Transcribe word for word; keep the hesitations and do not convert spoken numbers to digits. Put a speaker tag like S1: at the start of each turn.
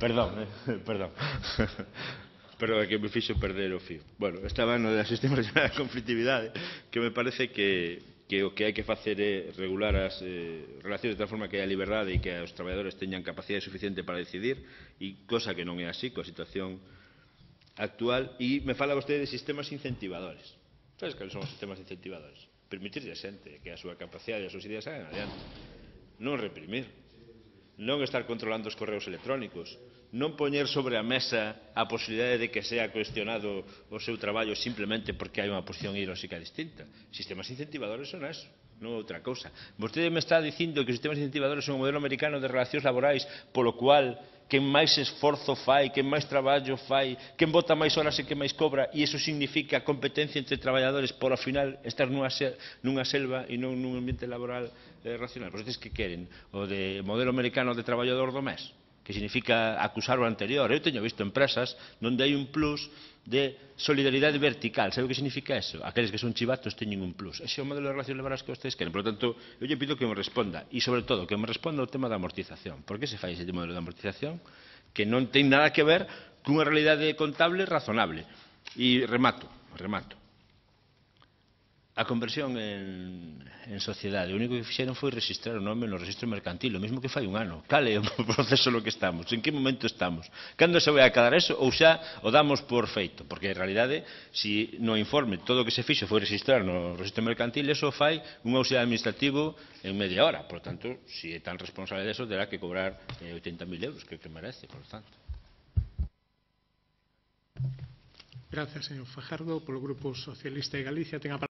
S1: Perdón, eh, perdón. Perdón, que me fixo perder o fío. Bueno, estaba no da sistema regional de conflictividade, que me parece que, que o que hai que facer é regular as eh, relacións de tal forma que haya liberdade e que os traballadores teñan capacidade suficiente para decidir, e cosa que non é así coa situación actual. E me fala vostede de sistemas incentivadores. Sabes que son os sistemas incentivadores? Permitirle a xente que a súa capacidade e as súas ideas hagan adiante. Non reprimir. Non estar controlando os correos electrónicos, non poñer sobre a mesa a posibilidade de que sea cuestionado o seu traballo simplemente porque hai unha posición ideolóxica distinta. Sistemas incentivadores son eso, non outra cousa. Vostede me está dicindo que os sistemas incentivadores son o modelo americano de relacións laborais polo cual quen máis esforzo fai, quen máis traballo fai, quen bota máis horas e quen máis cobra, e iso significa competencia entre traballadores por ao final estar nunha, sel nunha selva e non nun ambiente laboral eh, racional. Vostedes que queren? O de modelo americano de traballador do mes, que significa acusar o anterior. Eu teño visto empresas onde hai un plus de solidaridade vertical. Sabe o que significa eso? Aqueles que son chivatos teñen un plus. Ese é o modelo de relacións laborais que vostedes queren. Por lo tanto, eu lle pido que me responda, e sobre todo que me responda o tema da amortización. Por que se fai ese modelo de amortización que non ten nada que ver cunha realidade contable razonable? E remato, remato. A conversión en, en sociedade, o único que fixeron foi registrar o nome no registro mercantil, o mesmo que fai un ano. Cal é o proceso no que estamos? En que momento estamos? Cando se vai acabar eso ou xa o damos por feito? Porque en realidade, se no informe todo o que se fixo foi registrar no registro mercantil, eso fai un auxiliar administrativo en media hora. Por tanto, se é tan responsable de eso, terá que cobrar eh, oitenta mil euros, que é o que merece, por tanto.
S2: Gracias, señor Fajardo. Polo Grupo Socialista de Galicia ten a